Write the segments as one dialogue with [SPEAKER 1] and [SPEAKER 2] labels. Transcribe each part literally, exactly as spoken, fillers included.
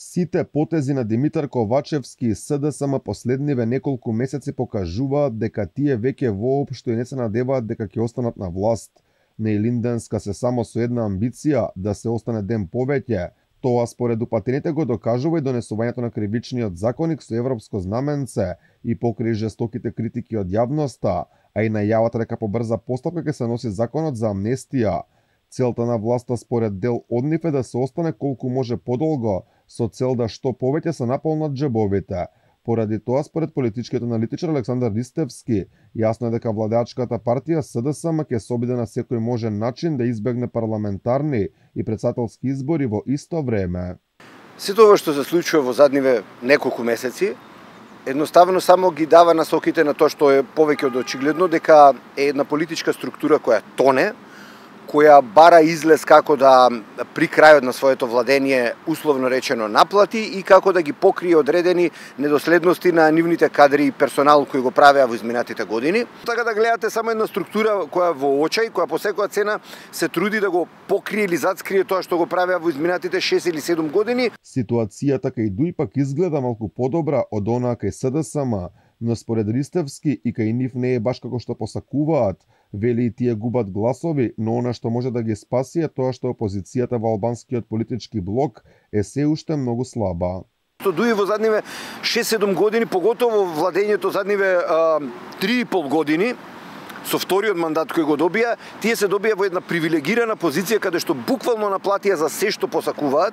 [SPEAKER 1] Сите потези на Димитар Ковачевски и СДСМ последниве неколку месеци покажуваат дека тие веќе воопшто и не се надеваат дека ќе останат на власт. Неилинденска се само со една амбиција да се остане ден повеќе. Тоа според упатените го докажува и донесувањето на кривичниот законник со европско знаменце и покрај жестоките критики од јавноста, а и најавата дека по брза постапка ќе се носи законот за амнестија. Целта на власта според дел од нив е да се остане колку може подолго, со цел да што повеќе се наполнат џебовите. Поради тоа, според политичкиот аналитичар Александар Ристевски, јасно е дека владеачката партија СДСМ ќе се обиде на секој можен начин да избегне парламентарни и претседателски избори во исто време.
[SPEAKER 2] Сето ова што се случува во задниве неколку месеци, едноставно само ги дава насоките на тоа што е повеќе од очигледно дека е една политичка структура која тоне, која бара излез како да при крајот на своето владение условно речено наплати и како да ги покрие одредени недоследности на нивните кадри и персонал кои го правеа во изминатите години. Така да гледате само една структура која во очај, која по секоја цена се труди да го покрие или зацкрие тоа што го правеа во изминатите шест или седум години.
[SPEAKER 1] Ситуацијата кај ДУИ пак изгледа малку подобра од онаа кај СДСМ, но според Ристевски и кај нив не е баш како што посакуваат. Вели и тие губат гласови, но она што може да ги спаси е тоа што опозицијата во албанскиот политички блок е се уште многу слаба.
[SPEAKER 2] ДУИ во задниве шест-седум години, поготово владењето задниве три и пол години, со вториот мандат кој го добија, тие се добија во една привилегирана позиција каде што буквално наплатија за се што посакуваат,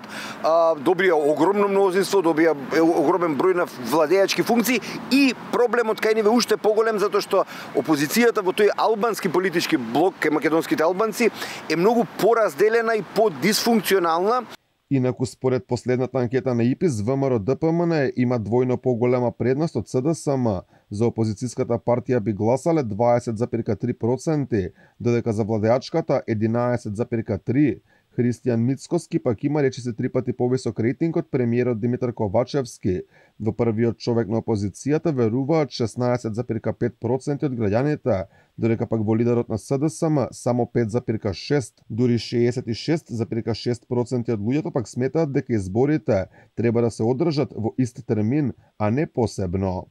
[SPEAKER 2] добија огромно мнозинство, добија огромен број на владеачки функции и проблемот кај ниве уште поголем затоа што опозицијата во тој албански политички блок кај македонските албанци е многу поразделена и подисфункционална.
[SPEAKER 1] Инаку според последната анкета на ИПИС, ВМРО Д П М Н има двојно поголема предност од СДСМ. За опозицијската партија би гласале дваесет зарез три проценти, додека за владеачката единаесет зарез три. Христијан Мицкоски пак има речиси три пати повисок рейтинг од премиерот Димитар Ковачевски. Во првиот човек на опозицијата веруваат шеснаесет зарез пет проценти од граѓаните, додека пак во лидерот на СДСМ само пет зарез шест, дури шеесет и шест зарез шест проценти од луѓето пак сметаат дека изборите треба да се одржат во ист термин, а не посебно.